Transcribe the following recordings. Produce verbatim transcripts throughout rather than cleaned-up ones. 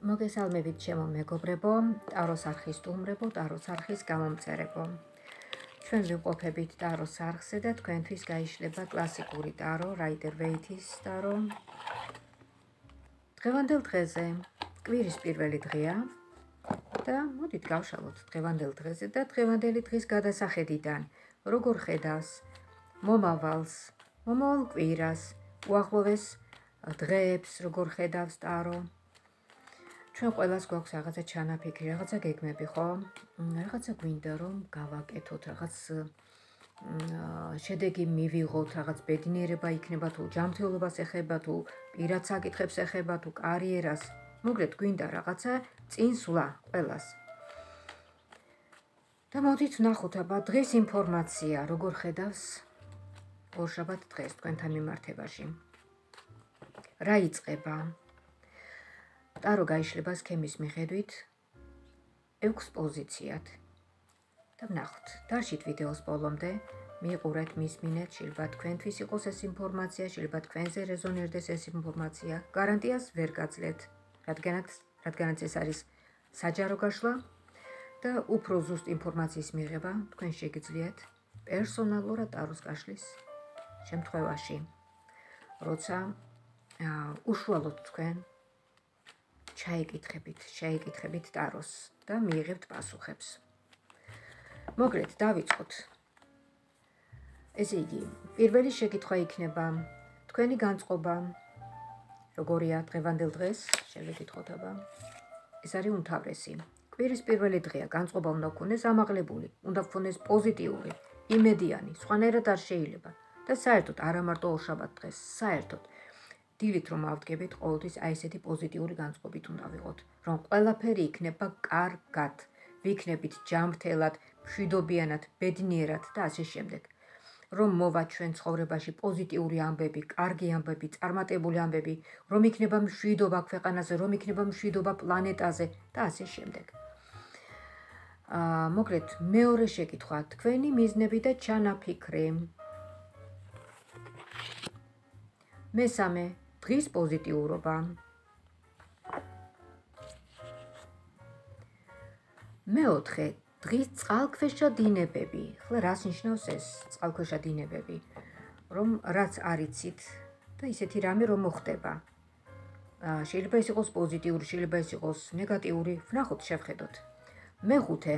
მოგესალმებით ჩემო მეგობრებო, ტაროს არხის სტუმრებო, ტაროს არხის გამომწერებო. ჩვენ ვიმყოფებით ტაროს არხზე და თქვენთვის გაიშლება კლასიკური ტარო, რაიდერ ვეითის ტარო. დღევანდელ დღეზე კვირის პირველი დღეა და მოდით გავშალოთ დღევანდელ დღეზე და დღევანდელი დღის გადასახედიდან, როგორ ხედავს მომავალს, მომავალ კვირას, უახლოეს დღეებს, როგორ ხედავს ტარო. ჩვენ ყველას გვაქვს რაღაცა ჩანაფიქრი, რაღაცა გეგმები, ხო? რაღაცა გვინდა რომ გავაკეთოთ, რაღაც შედეგი მივიღოთ, რაღაც ბედნიერება იქნება თუ ჯანმრთელობას ეხება თუ პირად საკითხებს ეხება თუ კარიერას. მოგლეთ გვინდა რაღაცა წინსვლა ყველას. და მოდით ვნახოთ აბა დღის ინფორმაცია, როგორ ხედავს ორშაბათ დღეს თქვენთან მიმართებაში. რა იწყება? ტარო გაიშლება სქემის მიხედვით ექვს პოზიციად. და ვნახოთ, დარჩით ვიდეოს ბოლომდე, მიყურეთ, მისმინეთ, შეიძლება თქვენთვის იყოს ეს ინფორმაცია, შეიძლება თქვენზე რეზონირდეს ეს ინფორმაცია. გარანტიას ვერ გაძლევთ, რადგანაც, რადგანაც ეს არის საჯარო გაშლა და უფრო ზუსტ ინფორმაციის მიღება თქვენ შეგიძლიათ პერსონალურად ტაროს გაშლის შემთხვევაში, როცა უშუალოდ თქვენ ჩაიკითხებით, შეიკითხებით ტაროს და მიიღებთ პასუხებს. მოგლეთ, დავიწყოთ. ესე იგი, პირველი შეკითხვა იქნება თქვენი განწყობა, როგორია დღევანდელ დღეს, შევეკითხოთ აბა. ეს არის უმთავრესი. კვირის პირველი დღეა, განწყობა უნდა გქონდეს ამაღლებული, უნდა გქონდეს პოზიტიური, იმედიანი, სხვანაირად არ შეიძლება და საერთოდ არა მარტო ორშაბათ დღეს, საერთოდ დილით რომ ავდგებით, ყოველთვის აი ესეთი პოზიტიური განწყობით უნდა ვიყოთ, რომ ყველაფერი იქნება კარგად, ვიქნებით ჯანმრთელად, მშვიდობიანად, ბედნიერად და ასე შემდეგ. რომ მოვა ჩვენ ცხოვრებაში პოზიტიური ამბები, კარგი ამბები, წარმატებული ამბები, რომ იქნება მშვიდობა ქვეყანაზე, რომ იქნება მშვიდობა პლანეტაზე და ასე შემდეგ. აა, მოგლეთ, მეორე შეკითხვა, თქვენი მიზნები და ჩანაფიქრი. მესამე, დღის პოზიტიურობა. მეოთხე, დღის წყალქვეშა დინებები. ხლა რას ნიშნავს ეს წყალქვეშა დინებები? რომ რაც არიცით და ისეთი რამე რომ მოხდება. შეიძლება ეს იყოს პოზიტიური, შეიძლება ეს იყოს ნეგატიური, ვნახოთ, შევხედოთ. მეხუთე,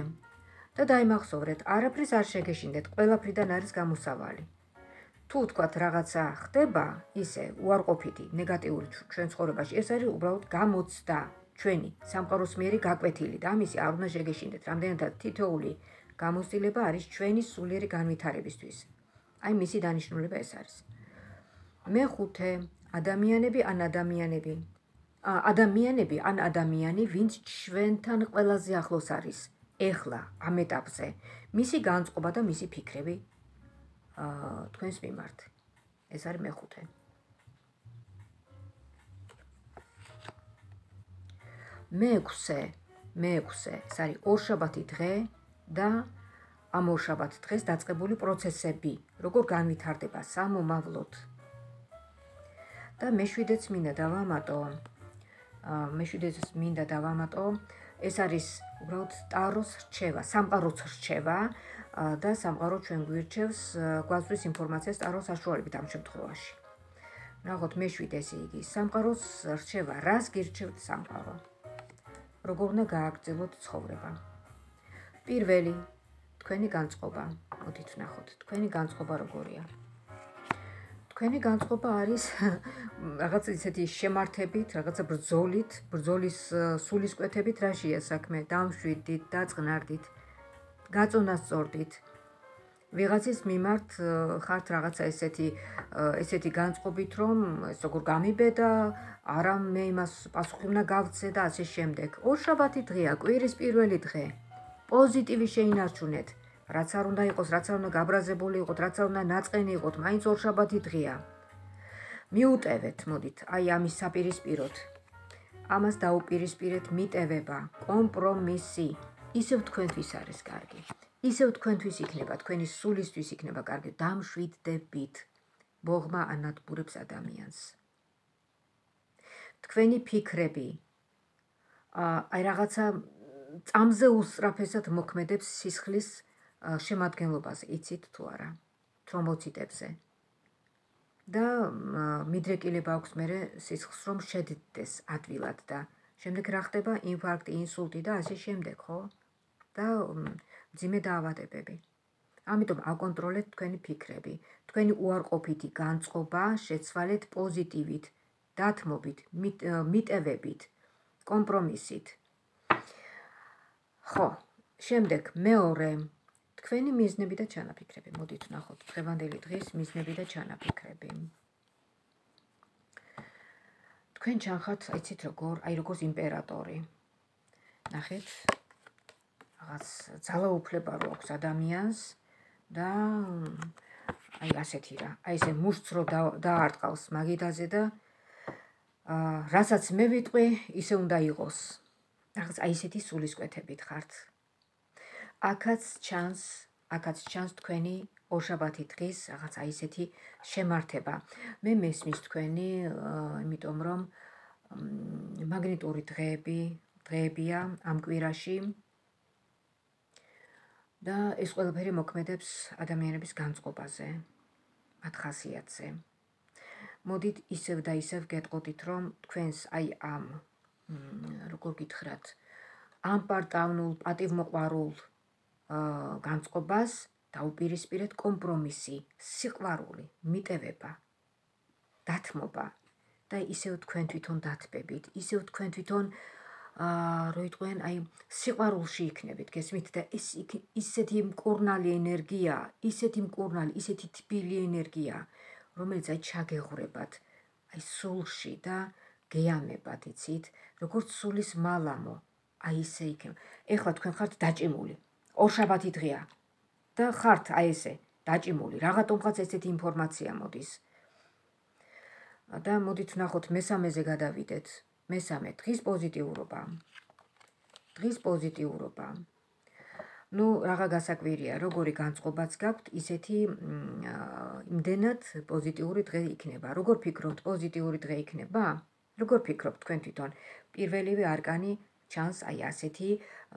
და დაიმახსოვრეთ, არაფრის არ შეგეშინდეთ, ყველაფრიდან არის გამოსავალი. თუ თქვათ რაღაცა ხდება, ისე უარყოფითი, ნეგატიური ჩვენ ცხოვრებაში, ეს არის უბრალოდ გამოცდა, ჩვენი სამყაროს მიერი გაკვეთილი და ამისი არ უნდა შეგეშინდეთ. რამდენადაც თითოეული გამოცდილება არის ჩვენი სულიერი განვითარებისთვის. აი მისი დანიშნულება ეს არის. მეხუთე, ადამიანები ან ადამიანები. ადამიანები ან ადამიანი, ვინც ჩვენთან ყველაზე ახლოს არის, ეხლა ამ ეტაპზე, მისი განწყობა და მისი ფიქრები თქვენს მიმართ. ეს არის მეხუთე. მეექვსე, მეექვსე, ეს არის ორშაბათი დღე და ამ ორშაბათ დღეს დაწყებული პროცესები, როგორ განვითარდება სამომავლოდ. და მეშვიდეც მინდა დავამატო, მეშვიდეც მინდა დავამატო, ეს არის უბრალოდ ტაროს რჩევა, სამყაროს რჩევა და სამყარო ჩვენ გვირჩევს, გვაწვდის ინფორმაციას ტაროს საშუალებით ამ შემთხვევაში. ვნახოთ მეშვიდე, ესე იგი, სამყაროს რჩევა, რას გირჩევთ სამყარო? როგორ უნდა გააგრძელოთ ცხოვრება? პირველი, თქვენი განწყობა. მოდით ვნახოთ, თქვენი განწყობა როგორია? თქვენი განწყობა არის რაღაც ისეთი შემართებით, რაღაცა ბრძოლით, ბრძოლის სულისკვეთებით, რაშია საქმე? დამშვიდით, დაწყნარდით, გაწონასწორდით. ვიღაცის მიმართ ხართ რაღაცა ესეთი ესეთი განწყობით, რომ ეს როგორ გამიბედა, არა მე იმას პასუხი უნდა გავცე და ასე შემდეგ. ორშაბათი დღეა, კვირის პირველი დღე. პოზიტივი შეინარჩუნეთ. რაც არ უნდა იყოს, რაც არ უნდა გაბრაზებული იყოთ, რაც არ უნდა ნაწყენი იყოთ, მაინც ორშაბათი დღეა. მიუტევეთ, მოდით, აი ამის საპირისპიროდ. ამას დაუპირისპირეთ მიტევება, კომპრომისი. ისევ თქვენთვის არის კარგი. ისევ თქვენთვის იქნება, თქვენი სულისთვის იქნება კარგი, დამშვიდდებით. ბოღმა ანადგურებს ადამიანს. თქვენი ფიქრები აი რაღაცა წამზე უსწრაფესად მოქმედებს სისხლის შემადგენლობაზე, იცით თუ არა, თრომბოციტებზე. და მიდრეკილება აქვს მერე სისხლს რომ შედდეს ადვილად და შემდეგ რა ხდება? ინფარქტი, ინსულტი და ასე შემდეგ, ხო? და მძიმე დაავადებები. ამიტომ აკონტროლეთ თქვენი ფიქრები, თქვენი უარყოფითი განწყობა შეცვალეთ პოზიტივით, დათმობით, მიტევებით, კომპრომისით. ხო, შემდეგ მეორე, თქვენი მიზნები და ჩანაფიქრები. მოდით ვნახოთ დღევანდელი დღის მიზნები და ჩანაფიქრები. თქვენ ჩანხართ, აიცით როგორ, აი როგორც იმპერატორი. ნახეთ, რაღაც ძალაუფლება რო აქვს ადამიანს და აი ასეთი რა, აი ესე მუშტს რო დაარტყავს მაგიდაზე და რასაც მე ვიტყვი, ისე უნდა იყოს. რაღაც აი ესეთი სულისკვეთებით ხართ. აქაც ჩანს, აქაც ჩანს თქვენი ორშაბათი დღის რაღაც აი ესეთი შემართება. მე მესმის თქვენი, იმიტომ რომ მაგნიტური დღეები, დღეებია ამ კვირაში და ეს ყველაფერი მოქმედებს ადამიანების განწყობაზე, მათ ხასიათზე. მოდით ისევ და ისევ გეტყოდით, რომ თქვენს აი ამ, როგორ გითხრათ, ამ პარტავნულ, პატივმოყვარულ განწყობას დაუპირისპირეთ კომპრომისი, სიყვარული, მიტევება, დათმობა და ისევ თქვენ თვითონ დათბებით, ისევ თქვენ თვითონ რო იტყვიან, აი სიყვარულში იქნებით, გესმით და ეს ისეთი მკურნალი ენერგია, ისეთი მკურნალი, ისეთი თბილი ენერგია, რომელიც აი ჩაგეღვრებათ, აი სულში და გეამებათ, იცით, როგორც სულის მალამო, აი ისე იქნება. ეხლა თქვენ ხართ დაჭიმული. ორშაბათი დღეა და ხართ აი ესე დაჭიმული. რაღაცომღაც ესეთი ინფორმაცია მოდის. და მოდით ვნახოთ მესამეზე გადავიდეთ. მესამე დღის პოზიტიურობა. დღის პოზიტიურობა. ნუ რაღა გასაკვირია, როგორი განწყობაც გაქვთ, ისეთი იმდენად პოზიტიური დღე იქნება. როგორ ფიქრობთ, პოზიტიური დღე იქნება? როგორ ფიქრობთ თქვენ თვითონ? პირველივე არკანი ჩანს აი ასეთი,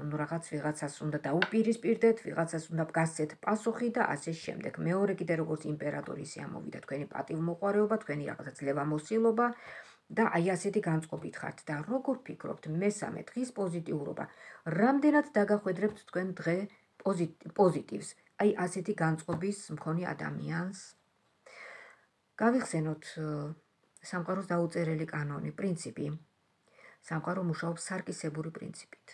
ნუ რაღაც ვიღაცას უნდა დაუპირისპირდეთ, ვიღაცას უნდა გასცეთ პასუხი და ასე შემდეგ. მეორე კიდე როგორც იმპერატორი ისე ამოვიდა თქვენი პატივმოყვარეობა, თქვენი რაღაცა ძლევამოსილობა და აი ასეთი განწყობით ხართ და როგორ ფიქრობთ მესამე დღის პოზიტიურობა? რამდენად დაგახვედრებთ თქვენ დღე პოზიტივს, აი ასეთი განწყობის მქონე ადამიანს? გავიხსენოთ სამყაროს დაუწერელი კანონი, პრინციპი. სამყარო მუშაობს სარკისებური პრინციპით.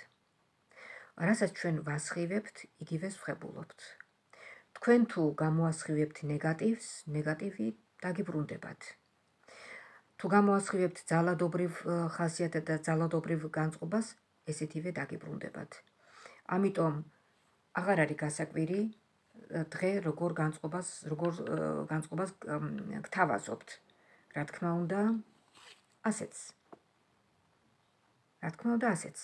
რასაც ჩვენ ვასხივებთ, იგივეს ვხებულობთ. თქვენ თუ გამოასხივებთ ნეგატივს, ნეგატივი დაგიბრუნდებათ. თუ გამოასხივებთ ძალადობრივ ხასიათად და ძალადობრივ განწყობას, ესეთივე დაგიბრუნდებათ. ამიტომ აღარ არის გასაკვირი დღე როგორ განწყობას, როგორ განწყობას გთავაზობთ. რა თქმა უნდა, ასეც. რა თქმა უნდა, ასეც.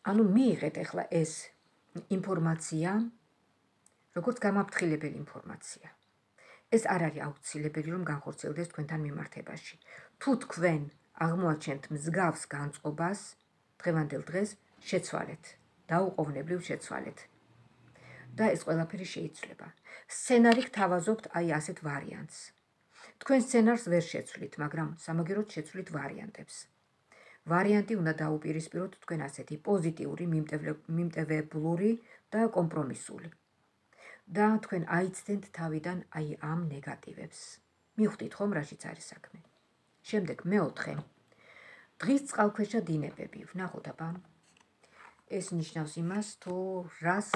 ანუ მიიღეთ ახლა ეს ინფორმაცია, როგორც გამაფრთხილებელი ინფორმაცია. ეს არ არის აუცილებელი, რომ განხორციელდეს თქვენთან მიმართებაში. თუ თქვენ აღმოაჩენთ მსგავს განწყობას, დღევანდელ დღეს შეცვალეთ, დაუყოვნებლივ შეცვალეთ. და ეს ყველაფერი შეიცვლება. სცენარი გთავაზობთ აი ასეთ ვარიანტს. თქვენ სცენარს ვერ შეცვლით, მაგრამ სამაგიეროდ შეცვლით ვარიანტებს. ვარიანტი უნდა დაუპირისპიროთ თქვენ ასეთი პოზიტიური, მიმტევებლური და კომპრომისული. და თქვენ აიცდენთ თავიდან აი ამ ნეგატივებს. მიხვდით ხომ რაშიც არის საქმე. შემდეგ მეოთხე. დღის წყალქვეშა დინებები. ვნახოთ აბა. ეს ნიშნავს იმას, თუ რას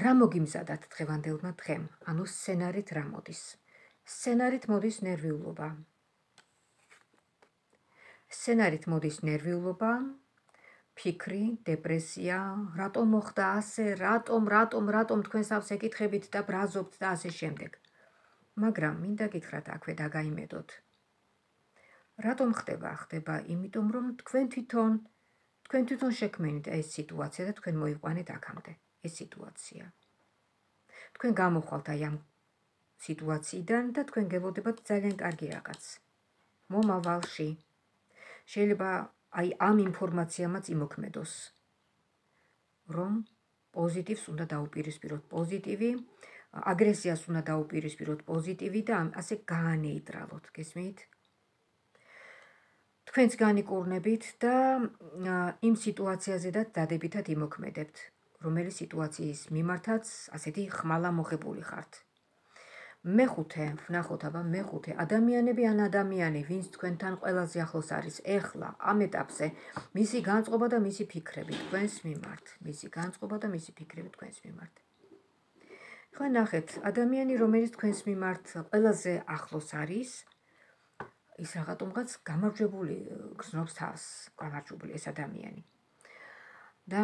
რა მოგიმზადათ დღევანდელმა დღემ, ანუ სცენარით რა მოდის. სცენარით მოდის ნერვიულობა. სცენარით მოდის ნერვიულობა, ფიქრი, დეპრესია, რატომ მოხდა ასე, რატომ, რატომ, რატომ თქვენს თავს ეკითხებით და ბრაზობთ და ასე შემდეგ. მაგრამ მინდა გითხრათ აქვე დაგაიმედოთ. რატომ ხდება? ხდება იმიტომ, რომ თქვენ თვითონ, თქვენ თვითონ შექმნით ეს სიტუაცია და თქვენ მოიყვანეთ აქამდე ეს სიტუაცია. თქვენ გამოხვალთ აი ამ სიტუაციიდან და თქვენ გელოდებათ ძალიან კარგი რაღაც. მომავალში. შეიძლება აი ამ ინფორმაციამაც იმოქმედოს, რომ პოზიტივს უნდა დაუპირისპიროთ პოზიტივი, აგრესიას უნდა დაუპირისპიროთ პოზიტივი და ასე გაანეიტრალოთ, გესმით? თქვენც განიკურნებით და იმ სიტუაციაზედაც დადებითად იმოქმედებთ, რომელი სიტუაციის მიმართაც ასეთი ხმალა მოხებული ხართ. მეხუთე, ვნახოთ აბა მეხუთე, ადამიანები ან ადამიანი, ვინც თქვენთან ყველაზე ახლოს არის, ეხლა ამ ეტაპზე, მისი განწყობა და მისი ფიქრები თქვენს მიმართ, მისი განწყობა და მისი ფიქრები თქვენს მიმართ. ხო ნახეთ, ადამიანი, რომელიც თქვენს მიმართ ყველაზე ახლოს არის, ის რაღაცომღაც გამარჯვებული გრძნობს თავს, გამარჯვებული ეს ადამიანი. და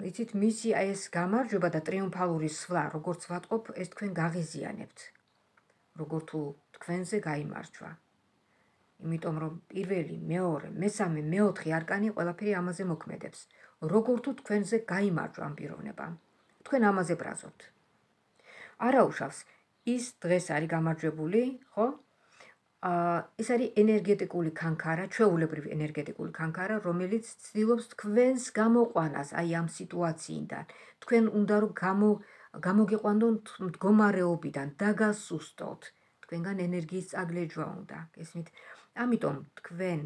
იცით, მისი აი ეს გამარჯვება და ტრიუმფალური სვლა, როგორც ვატყობ, ეს თქვენ გაღიზიანებთ. როგორ თუ თქვენზე გაიმარჯვა. იმიტომ რომ პირველი, მეორე, მესამე, მეოთხე არკანი ყველაფერი ამაზე მოქმედებს. როგორ თუ თქვენზე გაიმარჯვა ამ პიროვნებამ. თქვენ ამაზე ბრაზობთ. არაუშავს, ის დღეს არის გამარჯვებული, ხო? ეს არის ენერგეტიკული ქანქარა, ჩვეულებრივი ენერგეტიკული ქანქარა, რომელიც ცდილობს თქვენს გამოყვანას აი ამ სიტუაციიდან. თქვენ უნდა რომ გამო გამოგიყვანდონ მდგომარეობიდან, დაგასუსტოთ. თქვენგან ენერგიის წაგლეჯვა უნდა, გესმით? ამიტომ თქვენ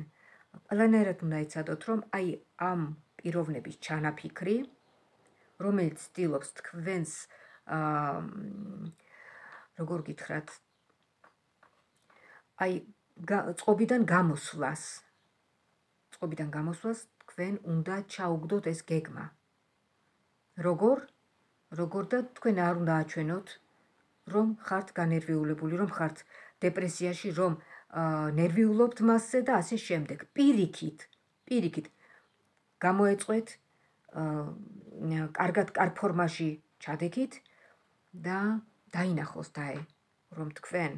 ყველანაირად უნდა იცადოთ, რომ აი ამ პიროვნების ჩანაფიქრი, რომელიც ცდილობს თქვენს როგორ გითხრათ, აი წყობიდან გამოსვლას, წყობიდან გამოსვლას თქვენ უნდა ჩაუგდოთ ეს გეგმა. როგორ? როგორ და თქვენ არ უნდა აჩვენოთ, რომ ხართ განერვიულებული, რომ ხართ დეპრესიაში, რომ ნერვიულობთ მასზე და ასე შემდეგ. პირიქით, პირიქით გამოეწყვეთ, კარგად კარგ ფორმაში ჩადექით და დაინახოს დაე, რომ თქვენ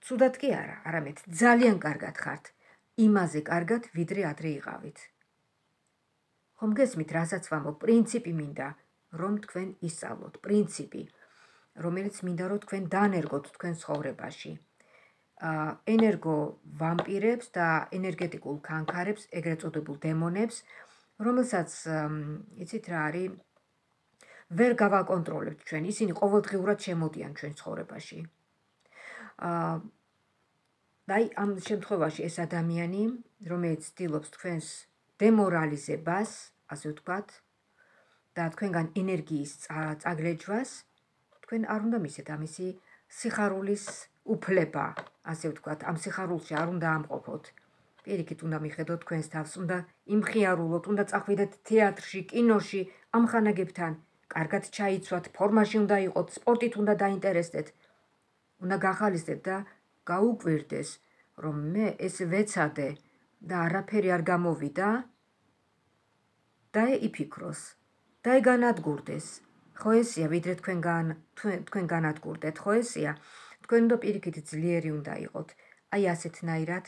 ცუდად კი არა, არამედ ძალიან კარგად ხართ, იმაზე კარგად, ვიდრე ადრე იყავით. ხომ გესმით, რასაც ვამბობ, პრინციპი მინდა, რომ თქვენ ისწავლოთ, პრინციპი, რომელიც მინდა რომ თქვენ დაანერგოთ თქვენ ცხოვრებაში. ენერგო ვამპირებს და ენერგეტიკულ ქანქარებს, ეგრეთ წოდებულ დემონებს, რომელსაც, იცით რა არის, ვერ გავაკონტროლებთ ჩვენ, ისინი ყოველდღიურად შემოდიან ჩვენ ცხოვრებაში. და აი ამ შემთხვევაში ეს ადამიანი, რომელიც ცდილობს თქვენს დემორალიზებას, ასე ვთქვათ, და თქვენგან ენერგიის წაგლეჯვას, თქვენ არ უნდა მისცეთ ამისი სიხარულის უფლება, ასე ვთქვათ, ამ სიხარულში არ უნდა ამყოფოთ. პირიქით უნდა მიხედოთ თქვენს თავს, უნდა იმხიარულოთ, უნდა წახვიდეთ თეატრში, კინოში, ამ ხანაგებთან, კარგად ჩაიცვათ, ფორმაში უნდა იყოთ, სპორტით უნდა დაინტერესდეთ. უნდა გახალისდეთ და გაუკვირდეს, რომ მე ეს ვეცადე და არაფერი არ გამოვიდა და იფიქროს და განადგურდეს. ხო ესია, ვიდრე თქვენგან თქვენ განადგურდეთ, ხო ესია? თქვენ უნდა პირიქით ძლიერი უნდა იყოთ. აი ასეთნაირად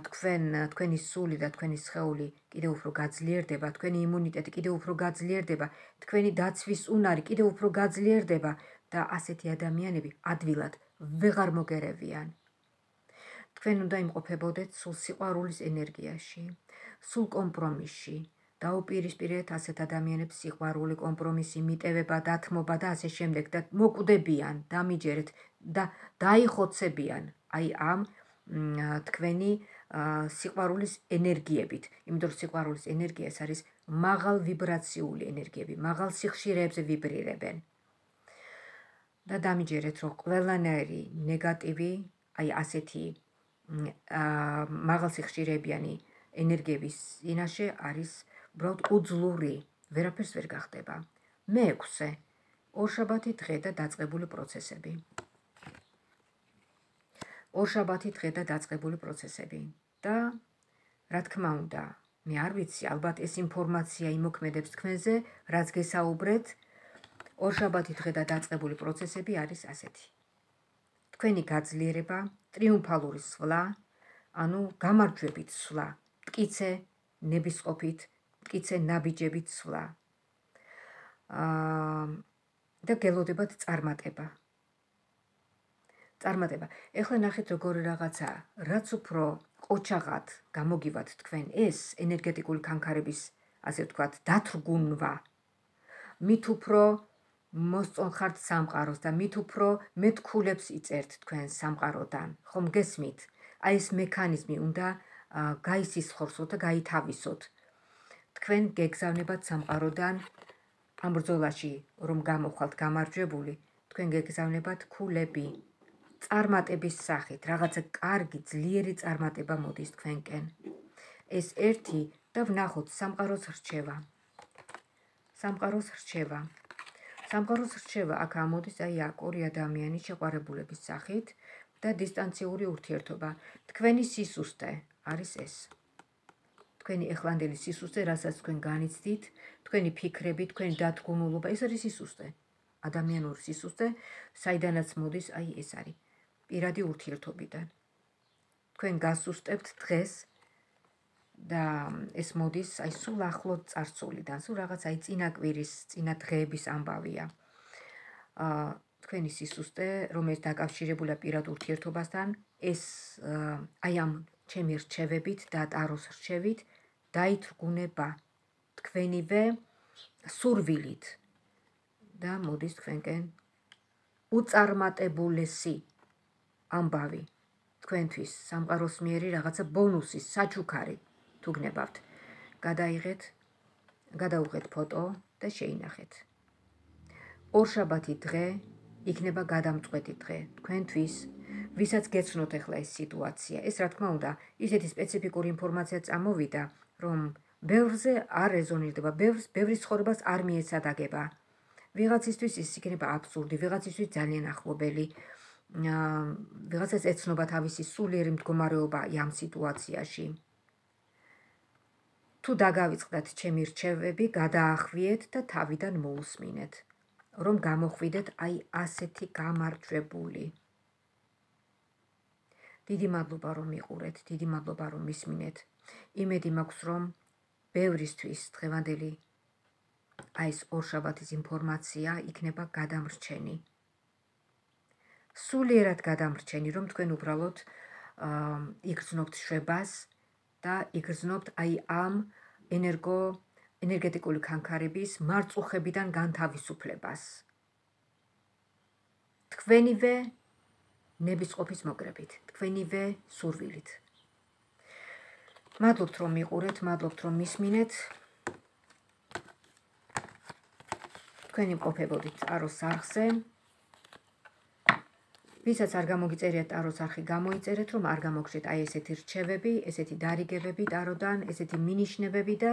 თქვენ თქვენი სული და თქვენი სხეული კიდევ უფრო გაძლიერდება, თქვენი იმუნიტეტი კიდევ უფრო გაძლიერდება, თქვენი დაცვის უნარი კიდევ უფრო გაძლიერდება და ასეთი ადამიანები ადვილად ვეღარ მოგერევიან. თქვენ უნდა იმყოფებოდეთ სულ სიყვარულის ენერგიაში, სულ კომპრომისში. დაუპირისპირეთ ასეთ ადამიანებს სიყვარული, კომპრომისი, მიტევება, დათმობა და ასე შემდეგ და მოკვდებიან, დამიჯერეთ და დაიხოცებიან აი ამ თქვენი სიყვარულის ენერგიებით. იმიტომ რომ სიყვარულის ენერგია ეს არის მაღალ ვიბრაციული ენერგიები, მაღალ სიხშირეებზე ვიბრირებენ. და დამიჯერეთ, რომ ყველანაირი ნეგატივი, აი ასეთი მაღალ სიხშირეებიანი ენერგიების წინაშე არის უბრალოდ უძლური, ვერაფერს ვერ გახდება. მეექვსე, ორშაბათი დღე და დაწყებული პროცესები. ორშაბათი დღე და დაწყებული პროცესები. და რა თქმა უნდა, მე არ ვიცი, ალბათ ეს ინფორმაცია იმოქმედებს თქვენზე, რაც გესაუბრეთ, ორშაბათი დღე და დაწყებული პროცესები არის ასეთი. თქვენი გაძლიერება, ტრიუმფალური სვლა, ანუ გამარჯვებით სვლა, მტკიცე ნებისყოფით, მტკიცე ნაბიჯებით სვლა. და გელოდებათ წარმატება. წარმატება. ეხლა ნახეთ როგორი რაღაცა, რაც უფრო ყოჩაღად გამოგივათ თქვენ ეს ენერგეტიკული კანკარების, ასე ვთქვათ, დათრგუნვა, მით უფრო მოსწონხართ სამყაროს და მით უფრო მეთქულებს იწერთ თქვენ სამყაროდან. ხომ გესმით? აი ეს მექანიზმი უნდა გაისისხორსოთ და გაითავისოთ. თქვენ გეგზავნებათ სამყაროდან ამ ბრძოლაში, რომ გამოხვალთ გამარჯვებული, თქვენ გეგზავნებათ ქულები. წარმატების სახით, რაღაცა კარგი, ძლიერი წარმატება მოდის თქვენკენ. ეს ერთი და ვნახოთ სამყაროს რჩევა. სამყაროს რჩევა. სამყაროს რჩევა აქ ამოდის აი აქ ორი ადამიანის შეყვარებულების სახით და დისტანციური ურთიერთობა. თქვენი სისუსტე არის ეს. თქვენი ეხლანდელი სისუსტე, რასაც თქვენ განიცდით, თქვენი ფიქრები, თქვენი დათგუნულობა, ეს არის სისუსტე. ადამიანური სისუსტე, საიდანაც მოდის, აი ეს არის. პირადი ურთიერთობიდან. თქვენ გასუსტებთ დღეს და ეს მოდის აი სულ ახლო წარსულიდან, სულ რაღაც აი წინა კვირის, წინა დღეების ამბავია. აა თქვენი სისუსტე, რომელიც დაკავშირებულია პირად ურთიერთობასთან, ეს აი ამ ჩემი რჩევებით და ტაროს რჩევით დაითრგუნება თქვენივე სურვილით და მოდის თქვენკენ უწარმატებულესი ამბავი თქვენთვის სამყაროს მიერი რაღაცა ბონუსის საჩუქარი თუ გნებავთ. გადაიღეთ, გადაუღეთ ფოტო და შეინახეთ. ორშაბათი დღე იქნება გადამწყვეტი დღე თქვენთვის, ვისაც გეცნოთ ახლა ეს სიტუაცია. ეს რა თქმა უნდა, ისეთი სპეციფიკური ინფორმაცია წამოვიდა, რომ ბევრზე არ რეზონირდება, ბევრს ბევრის ცხოვრებას არ მიეცადაგება. ვიღაცისთვის ის იქნება აბსურდი, ვიღაცისთვის ძალიან ახლობელი. ვიღაცას ეცნობა თავისი სულიერი მდგომარეობა ამ სიტუაციაში. თუ დაგავიწყდათ ჩემი რჩევები, გადაახვიეთ და თავიდან მოусმინეთ, რომ გამოხვიდეთ აი ასეთი გამარჯვებული. დიდი მადლობა რომ მიყურეთ, დიდი მადლობა რომ მისმინეთ. იმედი მაქვს რომ ბევრისთვის დღევანდელი აი ეს ორშაბათის ინფორმაცია იქნება გადამრჩენი. სულიერად გადამრჩენი, რომ თქვენ უბრალოდ იგრძნობთ შვებას და იგრძნობთ აი ამ ენერგო ენერგეტიკული კანკარების მარწუხებიდან განთავისუფლებას. თქვენივე ნებისყოფის მოგრებით, თქვენივე სურვილით. მადლობთ რომ მიყურეთ, მადლობთ რომ მისმინეთ. თქვენ იმყოფებოდით ტაროს არხზე. ვისაც არ გამოგიწერიათ ტაროს არხი, გამოიწერეთ, რომ არ გამოგხდეთ აი ესეთი რჩევები, ესეთი დარიგებები ტაროდან, ესეთი მინიშნებები და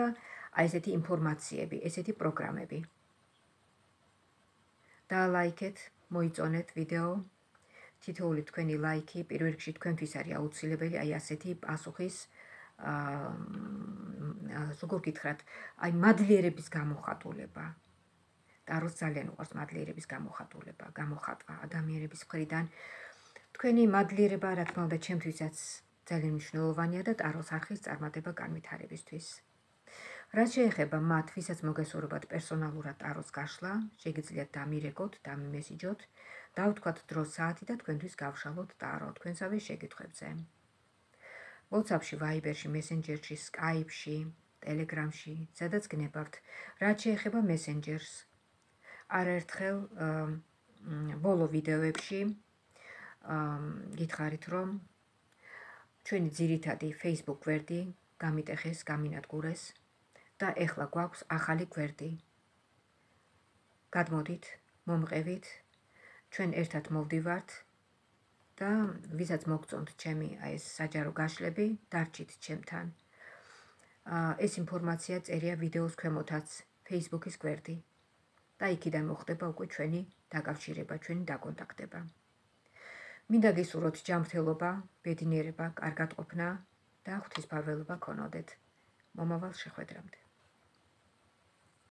აი ესეთი ინფორმაციები, ესეთი პროგრამები. დაალაიქეთ, მოიწონეთ ვიდეო. თითოეული თქვენი ლაიქი პირველ რიგში თქვენთვის არის აუცილებელი, აი ასეთი პასუხის აა როგორ გითხრათ, აი მადლიერების გამოხატულება. ტაროს ძალიან უყვარს მადლიერების გამოხატულება, გამოხატვა ადამიანების მხრიდან. თქვენი მადლიერება, რა თქმა უნდა, ჩემთვისაც ძალიან მნიშვნელოვანია და ტაროს არხის წარმატება განვითარებისთვის. რაც შეეხება მათ, ვისაც მოგესურვებათ პერსონალურად ტაროს გაშლა, შეგიძლიათ დამირეკოთ, დამიმესიჯოთ, დავთქვათ დრო საათი და თქვენთვის გავშალოთ ტარო თქვენსავე შეკითხვებზე. WhatsApp-ში, Viber-ში, Messenger-ში, Skype-ში, Telegram-ში, სადაც გნებავთ. რაც შეეხება Messenger-ს, არაერთხელ ბოლო ვიდეოებში გითხარით, რომ ჩვენი ძირითადი Facebook გვერდი გამიტეხეს, გამინადგურეს და ეხლა გვაქვს ახალი გვერდი. გადმოდით, მომყევით, ჩვენ ერთად მოვდივართ და ვისაც მოგწონთ ჩემი აი ეს საჯარო გაშლები, დარჩით ჩემთან. ეს ინფორმაცია წერია ვიდეოს ქვემოთაც, Facebook-ის გვერდი. და იქიდან მოხდება უკვე ჩვენი დაკავშირება, ჩვენი დაკონტაქტება. მინდა გისურვოთ ჯანმრთელობა, ბედნიერება, კარგად ყოფნა და ღვთისმფარველობა გქონოდეთ. მომავალ შეხვედრამდე.